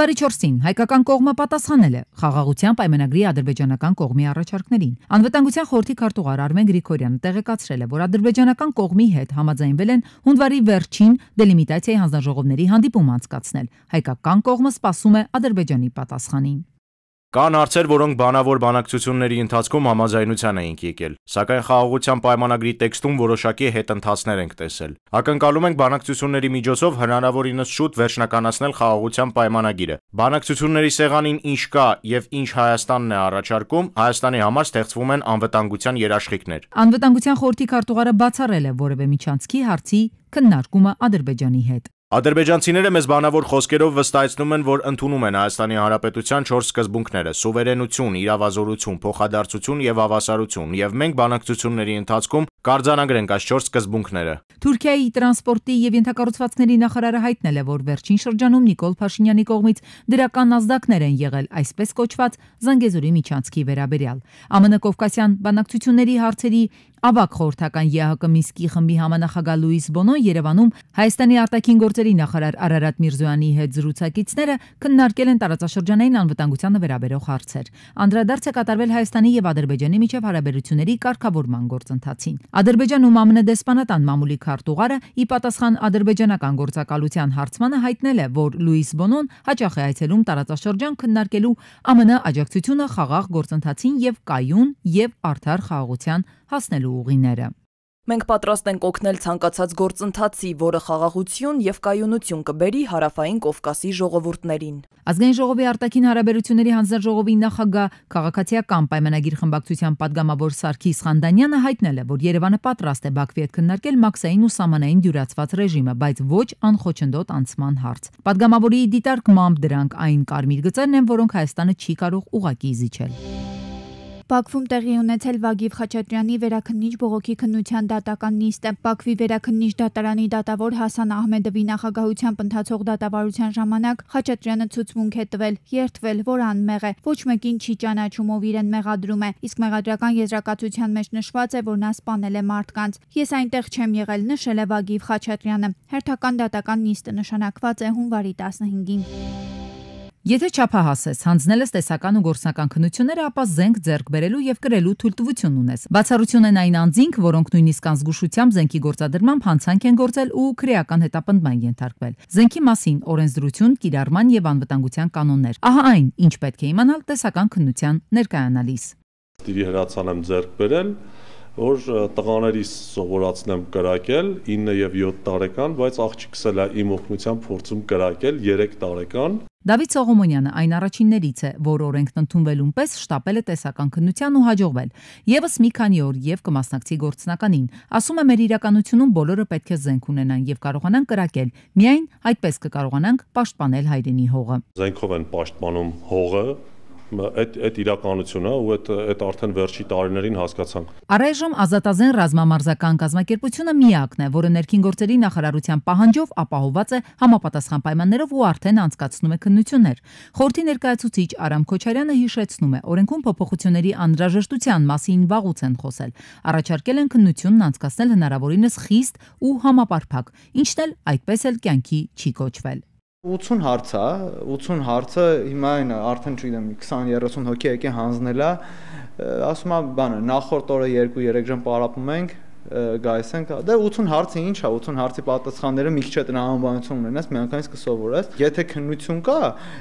Հունվարի 4-ին հայկական կողմը պատասխանել է խաղաղության պայմանագրի ադրբեջանական կողմի առաջարկներին։ Անվտանգության խորհրդի քարտուղար Արմեն Գրիգորյանը տեղեկացրել է, որ ադրբեջանական կողմի հետ համաձայնվել են հունվարի վերջին դելիմիտացիայի հանձնաժողովների հանդիպում անցկացնել։ Հայկական կողմը սպասում է Ադրբեջանի պատասխանին։ Կան հարցեր, որոնք բանավոր բանակցությունների ընթացքում համաձայնության էինք եկել, սակայն խաղաղության պայմանագրի տեքստում որոշակի հետընթացներ ենք տեսել։ Ակնկալում ենք բանակցությունների միջոցով հնարավորինս շուտ վերջնականացնել խաղաղության պայմանագիրը։ Բանակցությունների սեղանին ինչ կա եւ ինչ Հայաստանն է առաջարկում, Հայաստանի համար ստեղծվում են անվտանգության երաշխիքներ։ Անվտանգության խորհրդի քարտուղարը բացառել է որևէ միջանցքի հարցի քննարկումը Ադրբեջանի հետ։ Ադրբեջանցիները մեզ բանավոր խոսքերով վստահեցնում են, որ ընդունում են Հայաստանի Հանրապետության 4 սկզբունքները՝ սուվերենություն, իրավազորություն, փոխադարձություն եւ հավասարություն, եւ մենք բանակցությունների ընթացքում կարձանագրենք այս 4 սկզբունքները։ Թուրքիայի տրանսպորտի եւ ենթակառուցվածքների նախարարը հայտնել է, որ վերջին շրջանում Նիկոլ Փաշինյանի կողմից դրական ազդակներ են եղել այսպես կոչված Զանգեզուրի միջանցքի վերաբերյալ։ ԱՄՆ Կովկասյան բանակցությունների հարցերի ավագ խորհրդական ԵԱՀԿ Մինսկի խմբի համանախագահ Լուիս Բոնոն Երևանում Հայաստանի արտաքին գործերի նախարար Արարատ Միրզոյանի հետ զրուցակիցները քննարկել են տարածաշրջանային անվտանգությանը վերաբերող հարցեր։ Անդրադարձ է կատարվել Հայաստանի եւ Ադրբեջանի միջև հարաբերությունների կարգավորման գործընթացին։ Ադրբեջանում ԱՄՆ դեսպանատան մամուլի քարտուղարը ի պատասխան ադրբեջանական գործակալության հարցմանը հայտնել է, որ Լուիս Բոնոն հաճախ է այցելում տարածաշրջան քննարկելու ԱՄՆ աջակցությունը խաղաղ գործընթացին եւ կայուն եւ արդար խաղաղության հասնելու ուղիները։ Մենք պատրաստ ենք օգնել ցանկացած գործընթացի, որը խաղաղություն եւ կայունություն կբերի Հարավային Կովկասի ժողովուրդներին։ Ազգային ժողովի արտաքին հարաբերությունների հանձնաժողովի նախագահ քաղաքացիական պայմանագիր խմբակցության падգամավոր Սարգիս Խանդանյանը հայտնել է, որ Երևանը պատրաստ է Բաքվի հետ քննարկել մաքսային ու սահմանային դյուրացված ռեժիմը, բայց ոչ անխոչնդոտ անցման հարց։ Падգամավորի դիտարկմամբ դրանք այն կարմիր գծերն են, որոնք Հայաստանը չի կարող ուղղակի զիջել։ Բաքվում տեղի ունեցել Վագիվ Խաչատրյանի վերաքննիչ բողոքի քննության դատական նիստը։ Բաքվի վերաքննիչ դատարանի դատավոր Հասան Ահմեդովի նախագահությամբ ընթացող դատավարության ժամանակ Խաչատրյանը ցուցմունք է տվել, երդվել, որ անմեղ է, ոչ մեկին չի ճանաչում, ով իրեն մեղադրում է, իսկ մեղադրական եզրակացության մեջ նշված է, որ նա սպանել է մարդկանց։ Ես այնտեղ չեմ եղել, նշել է Վագիվ Խաչատրյանը։ Հերթական դատական նիստը նշանակված է հունվարի 15-ին։ Եթե չափահաս ես, հանձնել ես տեսական ու գործնական քննությունները, ապա զենք ձեռք բերելու եւ կրելու թույլտվություն ունես։ Բացառություն են այն անձինք, որոնք նույնիսկ անզգուշությամբ զենքի գործադրմամբ հանցանք են գործել ու քրեական հետապնդման ենթարկվել։ Զենքի մասին օրենսդրություն, կիրառման եւ անվտանգության կանոններ։ Ահա այն, ինչ պետք է իմանալ տեսական քննության ներկայանալիս։ Դիրի հրացան եմ ձեռք բերել, որ տղաներիս սովորացնեմ կրակել 9 եւ 7 տարեկան, բայց աղջիկս էլ է իմ օգնությամբ փորձում կրակել 3 տարեկան։ Դավիթ Սողոմոնյանը այն առաջիններից է, որ օրենքն ընդունվելուն պես շտապել է տեսական քննության ու հաջողվել։ Եվս մի քանի օր եւ կմասնակցի գործնականին։ Ասում է, մեր իրականությունում բոլորը պետք է զենք ունենան եւ կարողանան կրակել։ Միայն այդպես կկարողանանք պաշտպանել հայրենի հողը։ Զենքով են պաշտպանում հողը։ Այդ իրականությունը ու այդ արդեն վերջի տարիներին հասկացանք։ Առայժմ Ազատազեն ռազմամարզական կազմակերպությունը միակն է, որը ներքին գործերի նախարարության պահանջով ապահովված է համապատասխան պայմաններով ու արդեն անցկացնում է քննություններ։ Խորհրդի ներկայացուցիչ Արամ Քոչարյանը հիշեցնում է, օրենքում փոփոխությունների անհրաժեշտության մասին վաղուց են խոսել։ Առաջարկել են քննությունն անցկացնել հնարավորինս խիստ ու համապարփակ, ինչն էլ այդպես էլ կյանքի չի կոչվել։ 80 հարցը հիմա այն արդեն չգիտեմ 20-30 հոգի եկե հանձնել է, ասում եմ բանը նախորդ օրը 2-3 ժամ պարապում ենք գայս ենք, դե 80 հարցը ինչ է, 80 հարցի պատասխանները մի քիչ է տրամաբանություն ունենաս, միանգամից կսովորես։ Եթե քննություն կա,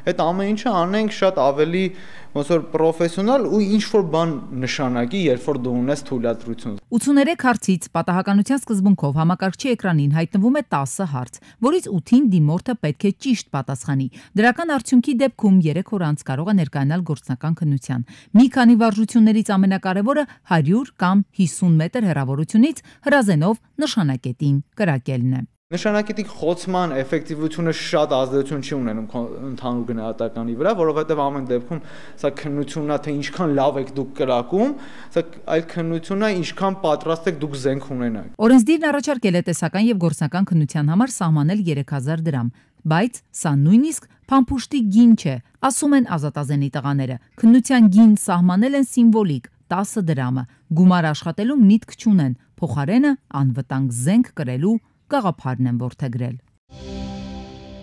այդ ամեն ինչը անենք շատ ավելի ոնց որ պրոֆեսիոնալ ու ինչ որ բան նշանակի, երբ որ դու ունես թույլատրություն։ 83 հարցից պատահականության սկզբունքով համակարգչի էկրանին հայտնվում է 10 հարց, որից 8-ին դիմորդը պետք է ճիշտ պատասխանի։ Դրական արդյունքի դեպքում 3 օր անց կարող է ներկայանալ գործնական քննության։ Մի քանի վարժություններից ամենակարևորը 100 կամ 50 մետր հեռավորությունից հրազենով նշանակետին կրակելն է։ Նշանակետի խոցման էֆեկտիվությունը շատ ազդեցություն չի ունենում ընդհանուր գնահատականի վրա, որովհետև ամեն դեպքում սա քննությունն է, թե ինչքան լավ եք դուք կրակում, սա այլ քննությունն է, ինչքան պատրաստ եք դուք զենք ունենալ։ Օրենսդիրն առաջարկել է տեսական եւ գործնական քննության համար սահմանել 3000 դրամ, բայց սա նույնիսկ փամփուշտի գին չէ, ասում են Ազատազենի տղաները։ Քննության գին սահմանել են սիմվոլիկ 10 դրամը, գումար աշխատելու միտք չունեն, փոխարենը անվտանգ զենք կրելու գաղափարն են որդեգրել։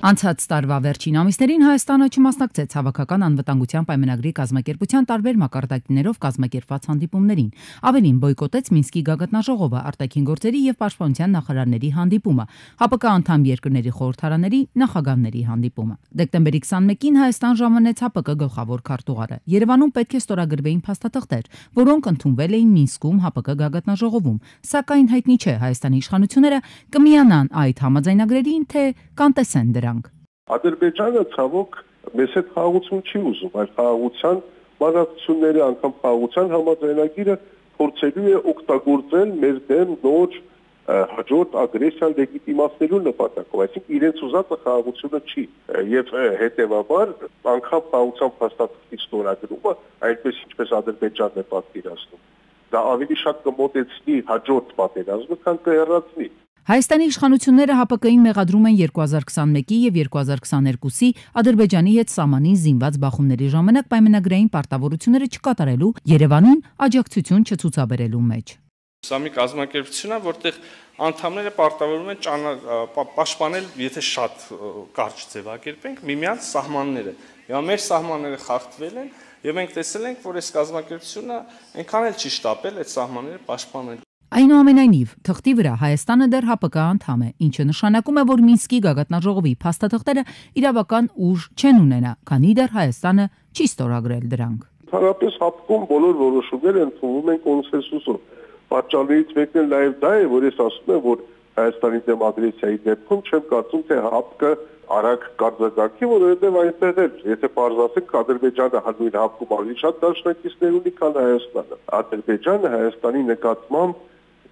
Անցած տարվա վերջին ամիսներին Հայաստանը չմասնակցեց հավաքական անվտանգության պայմանագրի կազմակերպության տարբեր մակարդակներով կազմակերպված հանդիպումներին։ Ավելին բոյկոտեց Մինսկի գագաթնաժողովը, արտաքին գործերի եւ պաշտպանության նախարարների հանդիպումը, ՀԱՊԿ անդամ երկրների խորհրդարաների նախագահների հանդիպումը։ Դեկտեմբերի 21-ին Հայաստան ժամանեց ՀԱՊԿ գլխավոր քարտուղարը։ Երևանում պետք է ստորագրվեին փաստաթղթեր, որոնք ընդունվել էին Մինսկում ՀԱՊԿ գագաթնաժողովում, սակայն հայտնի չէ Հայաստանի իշխանությունները կմիանան այդ համաձայնագրերին, թե կանտեսեն դրանք։ Ադրբեջանը ցավոք մեզ հետ խաղաղություն չի ուզում, այլ խաղաղության բանակցությունները, անգամ խաղաղության համաձայնագիրը փորձելու է օգտագործել մեր դեմ նոր հաջորդ ագրեսիան լեգիտիմացնելու նպատակով, այսինքն իրենց ուզածը խաղաղությունը չի, եւ հետեւաբար անգամ խաղաղության փաստաթղթի ստորագրումը այնպես ինչպես Ադրբեջանն է պատկերացնում, դա ավելի շատ կմոտեցնի հաջորդ պատերազմը, քան կհեռացնի։ Հայաստանի իշխանությունները ՀԱՊԿ-ին մեղադրում են 2021-ի եւ 2022-ի Ադրբեջանի հետ սահմանին զինված բախումների ժամանակ պայմանագրային պարտավորությունները չկատարելու, Երևանին աջակցություն չցուցաբերելու մեջ։ Սա մի կազմակերպություն է, որտեղ անդամները պարտավորվում են պաշտպանել, եթե շատ կարճ ձևակերպենք, միմյանց սահմանները։ Եվ մեր սահմանները խախտվել են, եւ մենք տեսել ենք, որ այս կազմակերպությունը այնքան էլ չի շտապել այդ սահմանները պաշտպանել։ Այնուամենայնիվ, թղթի վրա Հայաստանը դեռ ՀԱՊԿ անդամ է, ինչը նշանակում է, որ Մինսկի գագաթնաժողովի փաստաթղթերը իրավական ուժ չեն ունենա, քանի դեռ Հայաստանը չի ստորագրել դրանք։ Ընդհանրապես ՀԱՊԿ-ում բոլոր որոշումները ընդունվում են կոնսենսուսով։ Պատճառներից մեկն էլ նաև դա է, որ ես ասում եմ, որ Հայաստանի դեմ ագրեսիայի դեպքում չեմ կարծում, թե ՀԱՊԿ արագ կարձակարգի, որովհետև այնտեղ էլ, եթե պարզասենք, Ադրբեջանը նույն ՀԱՊԿ-ում ավելի շատ դաշնակիցներ ունի, քան Հայաստանը։ Ադրբեջանը Հայաստանի նկատմամբ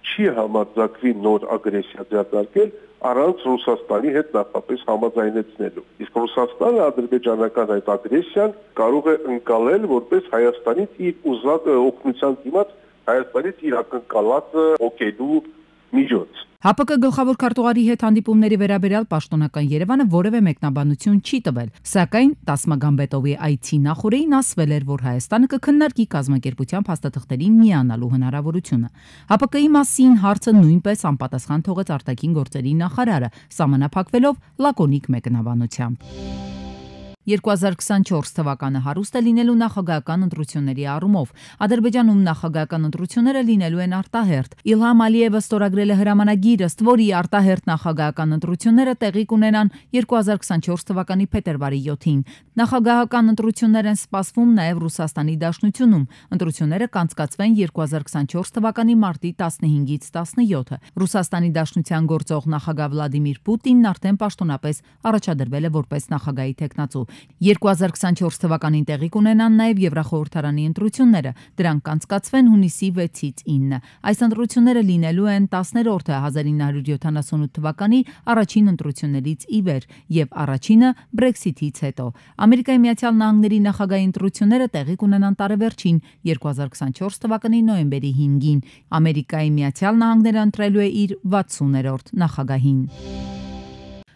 չի համարձակվի նոր ագրեսիա ձեռնարկել առանց Ռուսաստանի հետ նախապես համաձայնեցնելու։ Իսկ Ռուսաստանը ադրբեջանական այդ ագրեսիան կարող է ընկալել որպես Հայաստանից իր ուզած օգնության դիմաց Հայաստանից իր ակնկալածը օգելու միջոց։ ՀԱՊԿ գլխավոր քարտուղարի հետ հանդիպումների վերաբերյալ պաշտոնական Երևանը որևէ մեկնաբանություն չի տվել, սակայն Տասմագամբետովի այցի նախօրեին ասվել էր, որ Հայաստանը կքննարկի կազմակերպության փաստաթղթերին միանալու հնարավորությունը։ ՀԱՊԿ-ի մասին հարցը նույնպես անպատասխան թողեց արտաքին գործերի նախարարը, սահմանափակվելով լակոնիկ մեկնաբանությամբ։ 2024 թվականը հարուստ է լինելու նախագահական ընտրությունների առումով։ Ադրբեջանում նախագահական ընտրությունները լինելու են արտահերթ։ Իլհամ Ալիևը ստորագրել է հրամանագիր, ըստ որի արտահերթ նախագահական ընտրությունները տեղի կունենան 2024 թվականի փետրվարի 7-ին։ Նախագահական ընտրություններ են սպասվում նաև Ռուսաստանի Դաշնությունում։ Ընտրությունները կանցկացվեն 2024 թվականի մարտի 15-ից 17-ը։ Ռուսաստանի Դաշնության գործող նախագահ Վլադիմիր Պուտինն արդեն պաշտոնապես առաջադրվել է որպես նախագահի թեկնածու։ 2024 թվականին տեղի կունենան նաև Եվրախորհրդարանի ընտրությունները, դրանք կանցկացվեն հունիսի 6-ից 9։ Այս ընտրությունները լինելու են 10-րդը 1978 թվականի առաջին ընտրություններից ի վեր եւ առաջինը Brexit-ից հետո։ Ամերիկայի Միացյալ Նահանգների նախագահի ընտրությունները տեղի կունենան տարեվերջին 2024 թվականի նոյեմբերի 5-ին։ Ամերիկայի Միացյալ Նահանգները ընտրելու է իր 60-րդ նախագահին։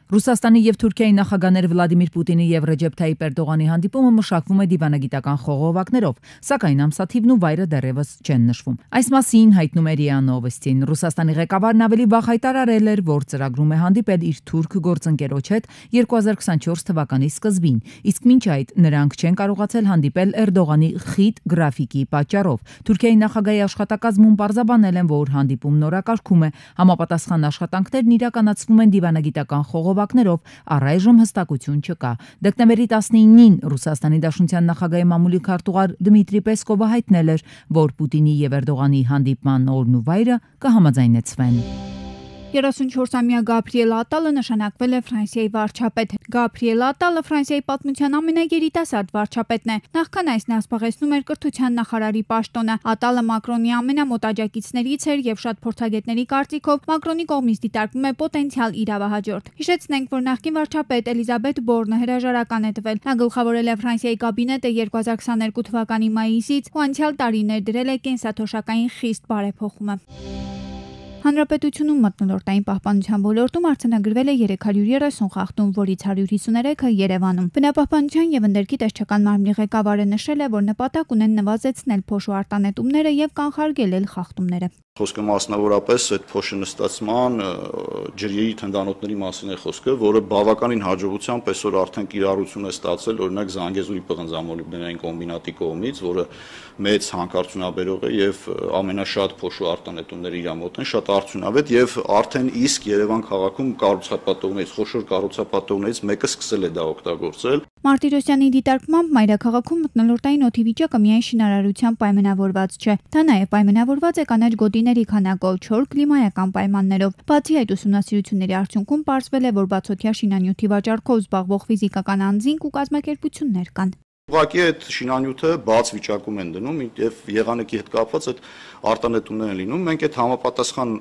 Ռուսաստանի եւ Թուրքիայի նախագահներ Վլադիմիր Պուտինի եւ Ռեջեփ Թայիպ Էրդողանի հանդիպումը մշակվում է դիվանագիտական խողովակներով, սակայն ամսաթիվն ու վայրը դեռևս չեն նշվում։ Այս մասին հայտնում է ՌԻԱ Նովոստին։ Ռուսաստանի ղեկավարն ավելի վաղ հայտարարել էր, որ ծրագրում է հանդիպել իր թուրք գործընկերոջ հետ 2024 թվականի սկզբին, իսկ մինչ այդ նրանք չեն կարողացել հանդիպել Էրդողանի խիտ գրաֆիկի պատճառով։ Թուրքիայի նախագահի աշխատակազմում պարզաբանել են, որ հանդիպումն օրակարգում է, համապատասխան աշխատանքներն իրականացվում են դիվանագիտական խողովակներով, առայժմ հստակություն չկա։ Դեկտեմբերի 19-ին Ռուսաստանի Դաշնության նախագահի մամուլի քարտուղար Դմիտրի Պեսկովը հայտնել էր, որ Պուտինի եւ Էրդողանի հանդիպման օրն ու վայրը կհամաձայնեցվեն։ 34-ամյա Գաբրիել Ատալը նշանակվել է Ֆրանսիայի վարչապետ։ Գաբրիել Ատալը Ֆրանսիայի պատմության ամենագերիտասարդ վարչապետն է։ Նախքան այս նա զբաղեցնում էր կրթության նախարարի պաշտոնը։ Ատալը Մակրոնի ամենամոտ աջակիցներից էր եւ շատ փորձագետների կարծիքով Մակրոնի կողմից դիտարկվում է պոտենցիալ իրավահաջորդ։ Հիշեցնենք, որ նախկին վարչապետ Էլիզաբետ Բորնը հրաժարական է տվել։ Նա գլխավորել է Ֆրանսիայի կաբինետը 2022 թվականի մայիսից ու անցյալ տարի ներդրել է կենսաթոշակային խիստ բարեփոխումը։ Հանրապետությունում մթնոլորտային պահպանության ոլորտում արձանագրվել է 330 խախտում, որից 153-ը Երևանում։ Բնապահպանության եւ ընդերքի տեսչական մարմնի ղեկավարը նշել է, որ նպատակ ունեն նվազեցնել փոշու արտանետումները եւ կանխարգելել խախտումները։ Խոսքը մասնավորապես այդ փոշենստացման ջրերի թնդանոթների մասին է խոսքը, որը բավականին հաջողությամբ այսօր արդեն կիրառություն է ստացել, օրինակ Զանգեզուրի պղնձամոլիբդենային կոմբինատի կողմից, որը մեծ հանքարդյունաբերող է եւ ամենաշատ փոշու արտանետումները իր մոտ են, շատ արդյունավետ եւ արդեն իսկ Երևան քաղաքում կառուցապատողներից, խոշոր կառուցապատողներից մեկը սկսել է դա օգտագործել։ Մարտիրոսյանի դիտարկմամբ մայրաքաղաքում մթնոլորտային օդի վիճակը միայն շինարարությամբ պայմանավորված չէ, դա նաև պայմանավորված է կանաչ գոտիների քանակով, չոր կլիմայական պայմաններով։ Բացի այդ ուսումնասիրությունների արդյունքում պարզվել է, որ բացօթյա շինանյութի վաճառքով զբաղվող ֆիզիկական անձինք ու կազմակերպություններ կան։ Ուղղակի այդ շինանյութը բաց վիճակում են դնում եւ եղանակի հետ կապված այդ արտանետումներ են լինում։ Մենք այդ համապատասխան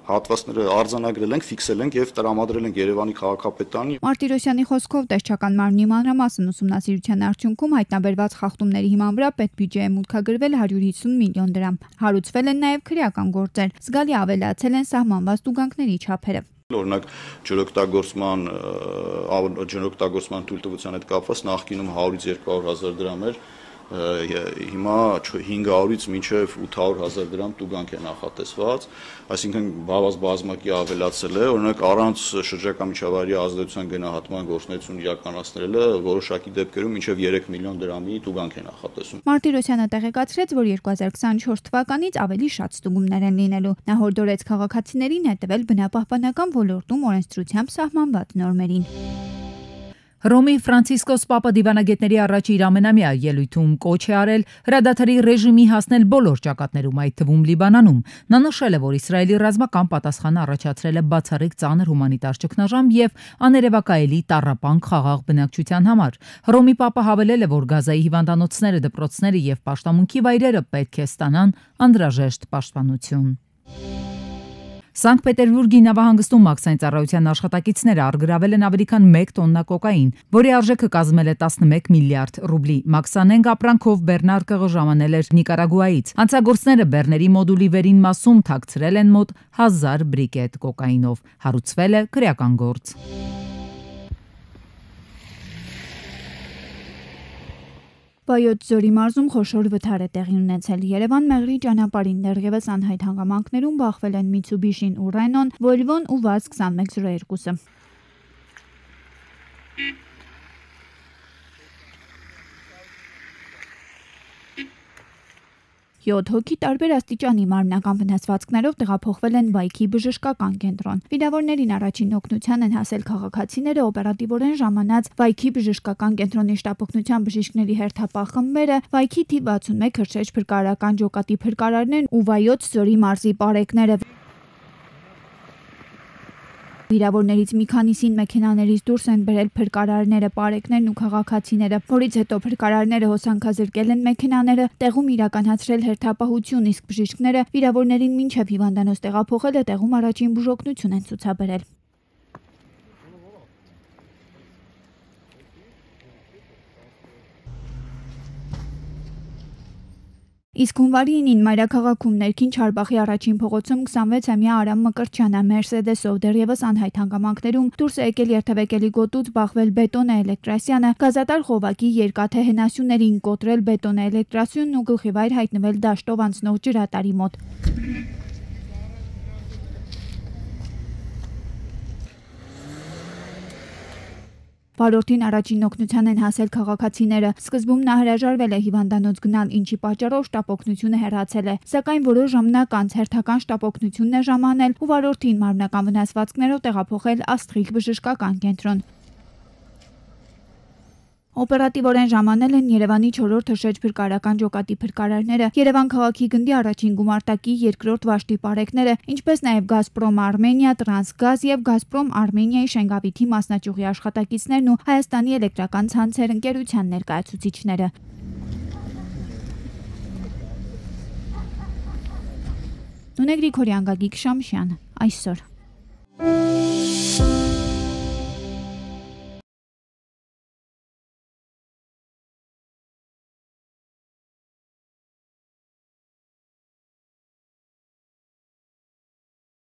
հատվածները արձանագրել ենք, ֆիքսել ենք եւ տրամադրել ենք Երևանի քաղաքապետարանի։ Մարտիրոսյանի խոսքով տեսչական մարմնի մանրամասն ուսումնասիրության արդյունքում հայտնաբերված խախտումների հիման վրա պետբյուջեը մուտքագրվել 150 միլիոն դրամ։ Հարուցվել են նաեւ քրեական գործեր, զգալի ավելացել են սահմանված տուգանքների չափերը։ Օրինակ ջրօգտագործման թույլտվության հետ կապված նախկինում 100-ից 200,000 դրամ էր, հիմա 500-ից մինչև 800,000 դրամ տուգանք է նախատեսված, այսինքն բազմակի ավելացել է, օրինակ առանց շրջակա միջավայրի ազդեցության գնահատման գործունեություն իրականացնելը որոշակի դեպքերում մինչև 3 միլիոն դրամի տուգանք է նախատեսում։ Մարտիրոսյանը տեղեկացրեց, որ 2024 թվականից ավելի շատ ստուգումներ են լինելու։ Նա հորդորեց քաղաքացիներին հետևել բնապահպանական ոլորտում օրենսդրությամբ սահմանված նորմերին։ Հռոմի Ֆրանցիսկոս Պապը դիվանագետների առաջ իր ամենամյա ելույթում կոչ է արել հրադադարի ռեժիմի հասնել բոլոր ճակատներում, այդ թվում Լիբանանում։ Նա նշել է, որ Իսրայելի ռազմական պատասխանը առաջացրել է բացառիկ ծանր հումանիտար ճգնաժամ եւ աներևակայելի տառապանք խաղաղ բնակչության համար։ Հռոմի Պապը հավելել է, որ Գազայի հիվանդանոցները, դպրոցները եւ պաշտամունքի վայրերը պետք է ստանան անհրաժեշտ պաշտպանություն։ Սանկտ Պետերբուրգի նավահանգստում մաքսային ծառայության աշխատակիցները առգրավել են ավելի քան 1 տոննա կոկային, որի արժեքը կազմել է 11 միլիարդ ռուբլի։ Մաքսանենգ ապրանքով Բեռնարկը ժամանել էր Նիկարագուայից։ Հանցագործները Բեռների մոդուլի վերին մասում թաքցրել են մոտ 1000 բրիկետ կոկայինով։ Հարուցվել է քրեական գործ։ Վայոց ձորի մարզում խոշոր վթար է տեղի ունեցել։ Երևան Մեղրի ճանապարհին դեռևս անհայտ հանգամանքներում բախվել են Mitsubishi-ն ու Renault-ն, Volvo-ն ու VAZ-2102-ը։ 7 հոգի տարբեր աստիճանի մարմնական վնասվածքներով տեղափոխվել են Վայքի բժշկական կենտրոն։ Վիրավորներին առաջին օգնության են հասել քաղաքացիները, օպերատիվորեն ժամանած Վայքի բժշկական կենտրոնի շտապօգնության բժիշկների հերթապահ խմբերը, Վայքի թիվ 61 հրշեջ փրկարարական ջոկատի փրկարարներն ու Վայոց ձորի մարզի պարեկները։ Վիրավորներից մի քանիսին մեքենաներից դուրս են բերել փրկարարները, պարեկներն ու քաղաքացիները, որից հետո փրկարարները հոսանքազրկել են մեքենաները, տեղում իրականացրել հերթապահություն, իսկ բժիշկները վիրավորներին մինչև հիվանդանոց տեղափոխելը տեղում առաջին բուժօգնություն են ցուցաբերել։ Իսկ հունվարի 9-ին մայրաքաղաքում ներքին Չարբախի առաջին փողոցում 26-ամյա Արամ Մկրտչյանը Mercedes-ով դեռևս անհայտ հանգամանքներում դուրս է եկել երթևեկելի գոտուց բախվել Բետոնե Էլեկտրասյանը, գազատար Խովակի երկաթե հենասյուներին կոտրել Բետոնե Էլեկտրասյունն ու գլխիվայր հայտնվել դաշտով անցնող ջրատարի մոտ։ Վարորդին առաջին օգնության են հասել քաղաքացիները։ Սկզբում նա հրաժարվել է հիվանդանոց գնալ, ինչի պատճառով շտապօգնությունը հեռացել է, սակայն որոշ ժամանակ անց հերթական շտապօգնությունն է ժամանել ու վարորդին մարմնական վնասվածքներով տեղափոխել Աստղիկ բժշկական կենտրոն։ Օպերատիվորեն ժամանել են Երևանի 4-րդ հրշեջ փրկարարական ջոկատի փրկարարները, Երևան քաղաքի գնդի առաջին գումարտակի 2-րդ վաշտի պարեկները, ինչպես նաև Գազպրոմ Արմենիա, Տրանսգազ եւ Գազպրոմ Արմենիայի Շենգավիթի մասնաճյուղի աշխատակիցներն ու Հայաստանի էլեկտրական ցանցեր ընկերության ներկայացուցիչները։ Նունե Գրիգորյան, Գագիկ Շամշյան, այսօր։